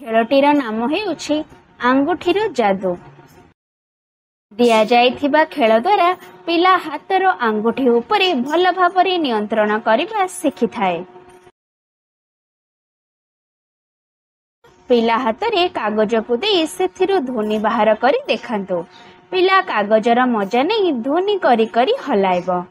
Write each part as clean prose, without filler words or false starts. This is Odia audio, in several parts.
ଖେଳଟିର ନାମ ହେଉଛି ଆଙ୍ଗୁଠିର ଯାଦୁ। ଦିଆଯାଇଥିବା ଖେଳ ଦ୍ୱାରା ପିଲା ହାତର ଆଙ୍ଗୁଠି ଉପରେ ଭଲ ଭାବରେ ନିୟନ୍ତ୍ରଣ କରିବା ଶିଖିଥାଏ। ପିଲା ହାତରେ କାଗଜକୁ ଦେଇ ସେଥିରୁ ଧ୍ୱନି ବାହାର କରି ଦେଖାନ୍ତୁ। ପିଲା କାଗଜର ମଜା ନେଇ ଧ୍ୱନି କରି କରି ହଲାଇବ।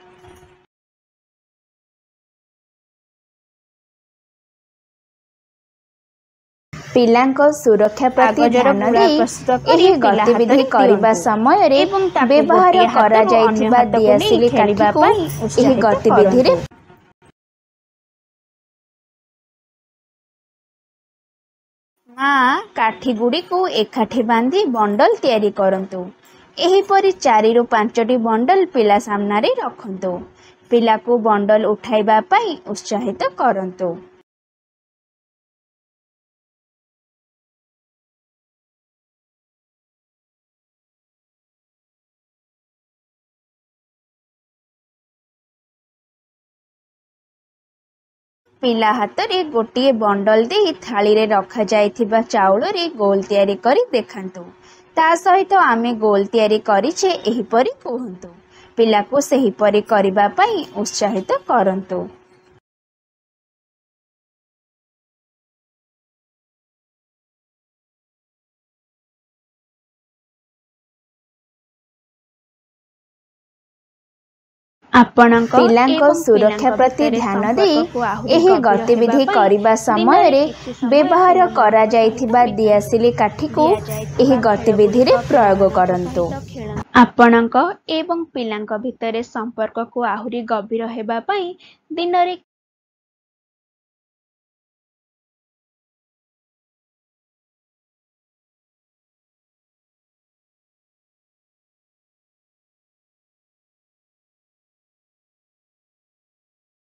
ପିଲାଙ୍କ ସୁରକ୍ଷା ପ୍ରତି କାଗଜର ଧ୍ୟାନ ଗୁଳା ଦେଇ ପ୍ରସ୍ତୁତ କରି ଏହି ପିଲା ଗତିବିଧି ହାତରେ କରିବା ଦିଅନ୍ତୁ ସମୟରେ ଏବଂ ତାକୁ ବ୍ୟବହାର ଗୋଟିଏ ହାତରୁ ଅନ୍ୟ କରାଯାଇଥିବା ହାତକୁ ନେଇ ଦିଆସିଲି ଖେଳିବା କାଠିକୁ ପାଇଁ ଏହି ଉତ୍ସାହିତ ଗତିବିଧିରେ କରନ୍ତୁ। ମା କାଠିଗୁଡ଼ିକୁ ଏକାଠି ବାନ୍ଧି ବଣ୍ଡଲ ତିଆରି କରନ୍ତୁ। ଏହିପରି 4ରୁ 5ଟି ବଣ୍ଡଲ ପିଲା ସାମ୍ନାରେ ରଖନ୍ତୁ। ପିଲାକୁ ବଣ୍ଡଲ ଉଠାଇବା ପାଇଁ ଉତ୍ସାହିତ କରନ୍ତୁ। ପିଲା ହାତରେ ଗୋଟିଏ ବଣ୍ଡଲ ଦେଇ ଥାଳିରେ ରଖାଯାଇଥିବା ଚାଉଳରେ ଗୋଲ ତିଆରି କରି ଦେଖାନ୍ତୁ। ତା ସହିତ ଆମେ ଗୋଲ ତିଆରି କରିଛେ, ଏହିପରି କୁହନ୍ତୁ। ପିଲାକୁ ସେହିପରି କରିବା ପାଇଁ ଉତ୍ସାହିତ କରନ୍ତୁ। ଆପଣଙ୍କ ପିଲାଙ୍କ ଏବଂ ସୁରକ୍ଷା ପିଲାଙ୍କ ପ୍ରତି ଭିତରେ ଧ୍ୟାନ ଦେଇ ସମ୍ପର୍କକୁ ଆହୁରି ଏହି ଗଭୀର ହେବା ଗତିବିଧି ପାଇଁ କରିବା ଦିନରେ ସମୟରେ କିଛି ସମୟ ବ୍ୟବହାର ପିଲାମାନଙ୍କ ସହିତ କରାଯାଇଥିବା ବିତାନ୍ତୁ। ଦିଆସିଲି କାଠିକୁ ଏହି ଦିଆଯାଇଥିବା ଗତିବିଧିରେ ଖେଳଗୁଡ଼ିକ ପ୍ରୟୋଗ ପିଲାମାନଙ୍କ କରନ୍ତୁ। ସହିତ ଖେଳନ୍ତୁ। ଆପଣଙ୍କ ଏବଂ ପିଲାଙ୍କ ଭିତରେ ସମ୍ପର୍କକୁ ଆହୁରି ଗଭୀର ହେବା ପାଇଁ ଦିନରେ